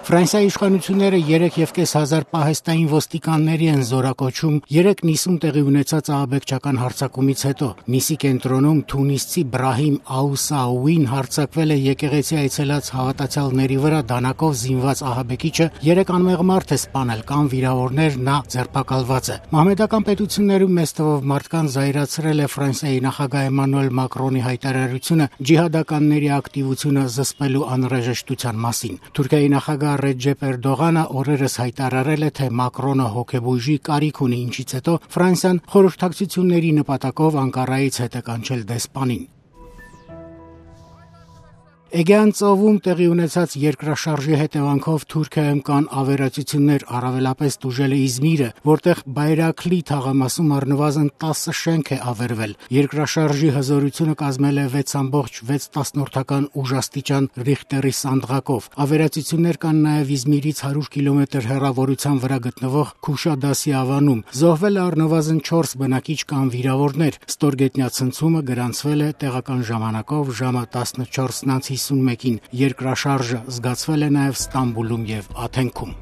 Ֆրանսիայի իշխանությունները 3,500 պահեստային ոստիկանների են զորակոչում 3 նիսում տեղի ունեցած ահաբեկչական հարձակումից հետո։ Նիսի կենտրոնում թունիսցի Բրահիմ Աուսաուին հարձակվել է եկեղեցի այցելած հավատացյալների վրա դանակով զինված ահաբեկիչը 3 անմեղ մարդ է սպանել կամ վիրավորներ, նա ձերբակալված է։ Մահմեդական պետություններում մեծ թվով մարդկանց զայրացրել է Ֆրանսիայի նախագահ Էմանուել Մակրոնի հայտարարությունը ջիհադականների ակտիվությունը զսպելու անհրաժեշտության մասին։ Թուրքիայի նախագահ Ռեջեփ Էրդողանը օրերս հայտարարել է, թե Մակրոնը հոգեբույժի կարիք ունի, ինչից հետո Ֆրանսիան խորհրդակցությունների նպատակով Անկարայից հետ է կանչել դեսպանին։ Էգեան ծովում տեղի ունեցած երկրաշարժի հետևանքով Թուրքիայում կան ավերածություններ, առավելապես տուժել է Իզմիրը, որտեղ Բայրաքլի թաղամասում առնվազն 10 շենք է ավերվել։ Երկրաշարժի հզորությունը կազմել է 6.6 ուժաստիճան Ռիխտերի սանդղակով։ Ավերածություններ կան նաև Իզմիրից 100 կիլոմետր հեռավորության վրա գտնվող Քուշադասի ավանում։ Զոհվել է առնվազն 4 բնակիչ կամ վիրավորներ։ Ստորգետնյա ցնցումը գրանցվել է տեղական ժամանակով ժամը 14:51-ին։ Երկրաշարժը զգացվել է նաև Ստամբուլում եւ Աթենքում։